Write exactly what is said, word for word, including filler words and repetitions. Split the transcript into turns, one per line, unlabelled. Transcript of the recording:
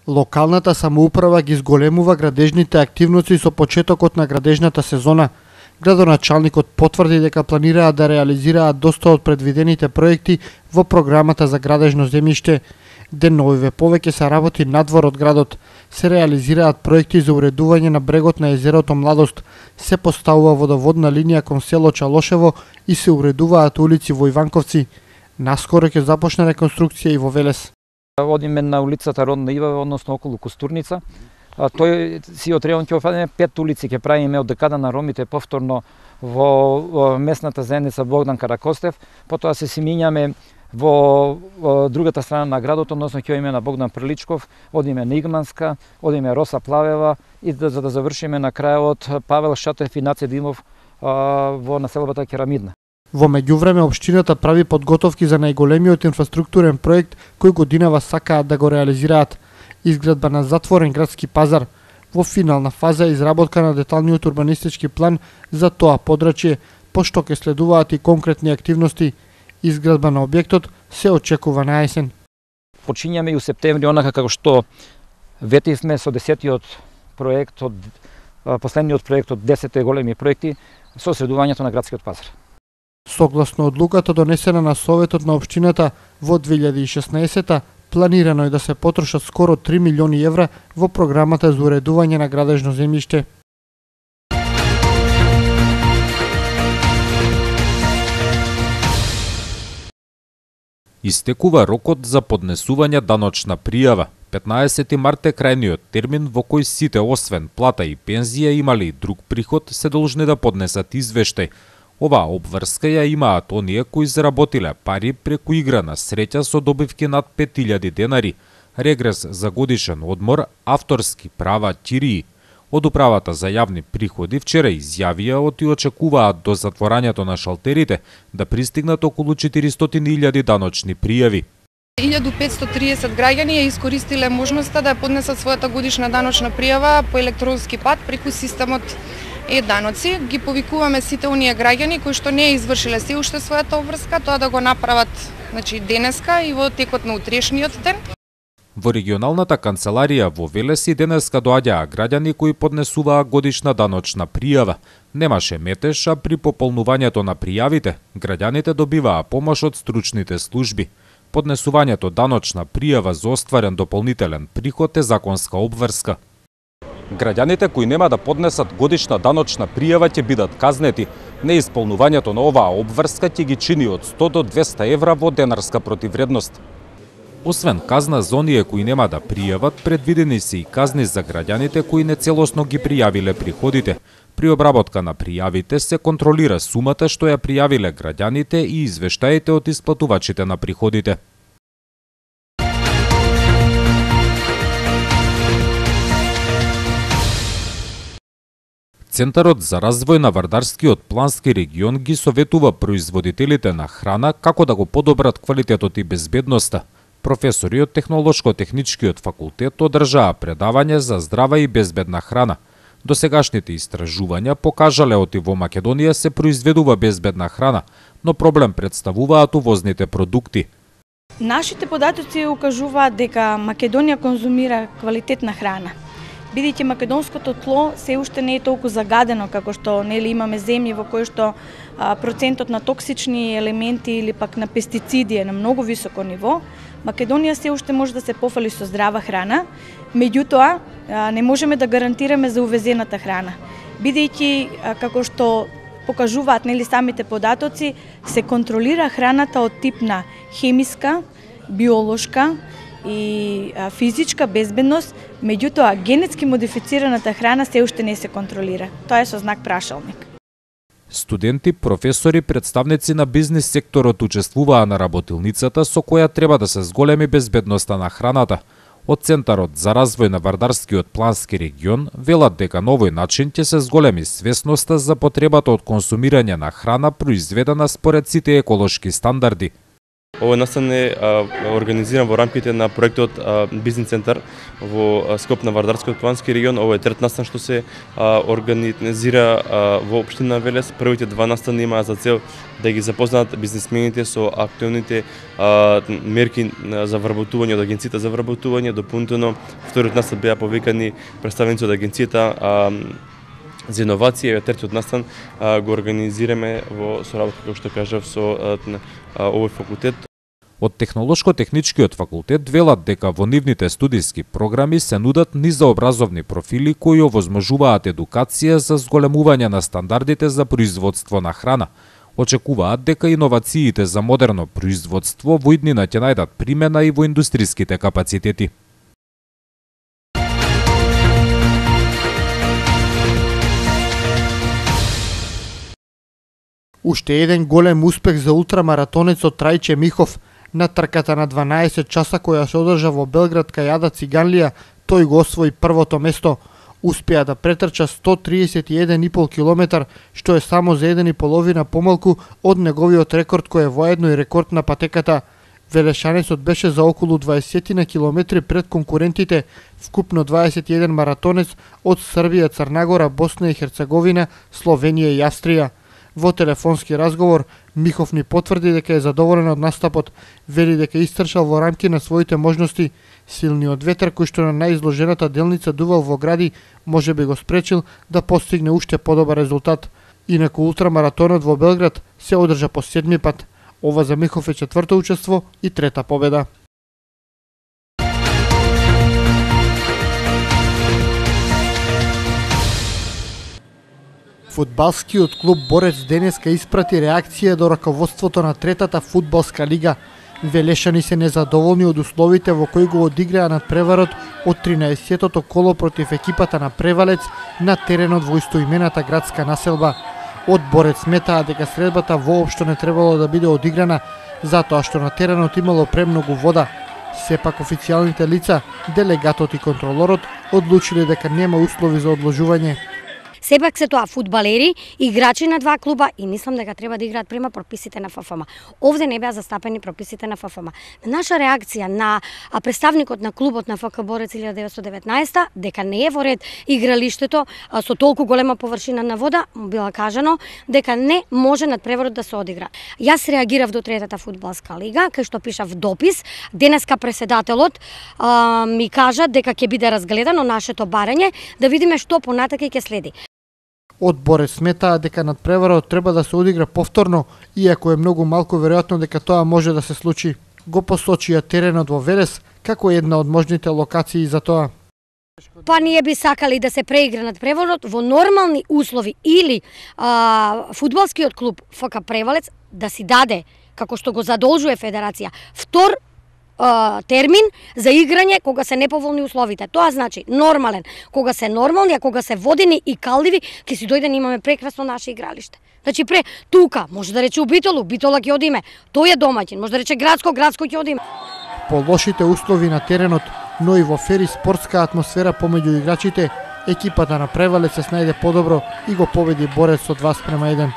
Локалната самоуправа ги зголемува градежните активности со почетокот на градежната сезона. Градоначалникот потврди дека планираат да реализираат доста од предвидените проекти во програмата за градежно земјиште. Деновиве повеќе се работи надвор од градот. Се реализираат проекти за уредување на брегот на езерото Младост, се поставува водоводна линија кон село Чалошево и се уредуваат улици во Иванковци. Наскоро ќе започне реконструкција и во Велес.
Одиме на улицата Родна Ива, односно околу Костурница. Тој си од район ќе офатиме пет улици, ќе правиме од декада на ромите повторно во местната заедница Богдан Каракостев, потоа се си минјаме во другата страна на градот, односно ќе одиме на Богдан Приличков, одиме на Игманска, одиме Роса Плавева и да, за да завршиме на крајот Павел Шатев и Наце Димов во населбата Керамидна.
Во меѓувреме општината прави подготовки за најголемиот инфраструктурен проект кој годинава сакаат да го реализираат. Изградба на затворен градски пазар. Во финална фаза е изработка на деталниот урбанистички план за тоа подрачје, пошто ќе следуваат и конкретни активности. Изградба на објектот се очекува на есен.
Почињаме и у септември онака како што ветивме со десетиот проект од последниот проект од десетте големи проекти со средувањето на градскиот пазар.
Согласно одлуката донесена на Советот на општината во две илјади и шеснаесетта, планирано е да се потрошат скоро три милиони евра во програмата за уредување на градежно земјиште.
Истекува рокот за поднесување даночна пријава. петнаесети март е крајниот термин во кој сите освен плата и пензија имали и друг приход се должни да поднесат извештај. Оваа обврска ја имаат оние кои заработиле пари преку игра на среќа со добивки над пет илјади денари, регрес за годишен одмор, авторски права, ќирии. Од управата за јавни приходи вчера изјавија оти очекуваат до затворањето на шалтерите да пристигнат околу четиристотини илјади даночни пријави.
илјада петстотини и триесет граѓани ја искористиле можноста да ја поднесат својата годишна даночна пријава по електронски пат преку системот Е-даноци. Ги повикуваме сите оние граѓани кои што не ја извршиле се уште својата обврска, тоа да го направат, значи, денеска и во текот на утрешниот ден.
Во регионалната канцеларија во Велес и денеска доаѓаа граѓани кои поднесуваа годишна даночна пријава. Немаше метеж, а при пополнувањето на пријавите, граѓаните добиваа помош од стручните служби. Поднесувањето даночна пријава за остварен дополнителен приход е законска обврска. Граѓаните кои нема да поднесат годишна даночна пријава ќе бидат казнети. Неисполнувањето на оваа обврска ќе ги чини од сто до двесте евра во денарска противвредност. Освен казна за оние кои нема да пријават, предвидени се и казни за граѓаните кои нецелосно ги пријавиле приходите. При обработка на пријавите се контролира сумата што ја пријавиле граѓаните и извештаите од исплатувачите на приходите. Центарот за развој на Вардарскиот плански регион ги советува производителите на храна како да го подобрат квалитетот и безбедноста. Професори од Технолошко-техничкиот факултет одржаа предавање за здрава и безбедна храна. Досегашните истражувања покажале оти во Македонија се произведува безбедна храна, но проблем представуваат увозните продукти.
Нашите податоци укажуваат дека Македонија конзумира квалитетна храна. Бидејќи македонското тло се уште не е толку загадено како што нели имаме земји во кои што а, процентот на токсични елементи или пак на пестициди е на многу високо ниво, Македонија се уште може да се пофали со здрава храна, меѓутоа а, не можеме да гарантираме за увезената храна. Бидејќи а, како што покажуваат нели самите податоци, се контролира храната од тип на хемиска, биолошка и а, физичка безбедност, меѓутоа генетски модифицираната храна се уште не се контролира. Тоа е со знак прашалник.
Студенти, професори, представници на бизнис секторот учествуваа на работилницата со која треба да се зголеми безбедноста на храната. Од Центарот за развој на Вардарскиот плански регион велат дека на овој начин ќе се зголеми свесноста за потребата од консумирање на храна произведена според сите еколошки стандарди.
Ова настан е организиран во рамките на проектот Бизнес центар во скоп на Вардарскиот плански регион. Ова е трет настан што се организира во општина Велес. Првите два настани имаа за цел да ги запознаат бизнисмените со актуелните мерки за вработување од агенцијата за вработување. Дополнително, вториот настан беа повикани представници од агенцијата за иновација, третиот настан го организираме во соработка, како што кажав, со овој факултет.
Од Технолошко-техничкиот факултет велат дека во нивните студиски програми се нудат низообразовни профили кои овозможуваат едукација за зголемување на стандардите за производство на храна. Очекуваат дека иновациите за модерно производство во иднина ќе најдат примена и во индустриските капацитети.
Уште еден голем успех за ултрамаратонецот Трајче Михов. На трката на дванаесет часа која се одржа во Белград кај Ада Циганлија, тој го освои првото место. Успеа да претрча сто триесет и еден и пол километар, што е само за еден и половина помалку од неговиот рекорд кој е воедно и рекорд на патеката. Велешанецот беше за околу дваесет на километри пред конкурентите, вкупно дваесет и еден маратонец од Србија, Црнагора, Босна и Херцеговина, Словенија и Австрија. Во телефонски разговор, Михов ни потврди дека е задоволен од настапот, вели дека истрчал во рамки на своите можности. Силниот ветер кој што на најизложената делница дувал во гради, може би го спречил да постигне уште подобар резултат. Инаку ултрамаратонот во Белград се одржа по седми пат. Ова за Михов е четврто учество и трета победа. Фудбалскиот клуб Борец денеска испрати реакција до раководството на третата фудбалска лига. Велешани се незадоволни од условите во кои го одиграа надпреварот од тринаесеттото коло против екипата на Превалец на теренот во истоимената градска населба. Од Борец сметаа дека средбата воопшто не требало да биде одиграна, затоа што на теренот имало премногу вода. Сепак официјалните лица, делегатот и контролорот одлучиле дека нема услови за одложување.
Сепак се тоа фудбалери, играчи на два клуба и мислам дека треба да играат према прописите на ФФМ. Овде не беа застапени прописите на ФФМ. Наша реакција на представникот на клубот на ФК Борец илјада деветстотини и деветнаесета дека не е во ред игралиштето со толку голема површина на вода, била кажано дека не може надпреварот да се одигра. Јас реагирав до третата фудбалска лига, кај што пишав допис. Денеска преседателот а, ми кажа дека ќе биде разгледано нашето барање, да видиме што понатака ќе следи.
Од Борец сметаа дека надпреварот треба да се одигра повторно, иако е многу малку веројатно дека тоа може да се случи. Го посочија теренот во Велес како една од можните локации за тоа.
Па ние би сакали да се преигра надпреварот во нормални услови или а, фудбалскиот клуб ФК Превалец да си даде, како што го задолжува Федерација, втор термин за играње кога се неповолни условите. Тоа значи нормален. Кога се нормални, а кога се водени и калдиви, ќе си дојден имаме прекрасно наше игралиште. Значи пре тука, може да рече у Битолу, Битола ќе одиме. Тој е домаќин, може да рече градско, градско ќе одиме.
По лошите услови на теренот, но и во фери спортска атмосфера помеѓу играчите, екипата на Превалец се снајде подобро и го победи Борец со два спрема еден.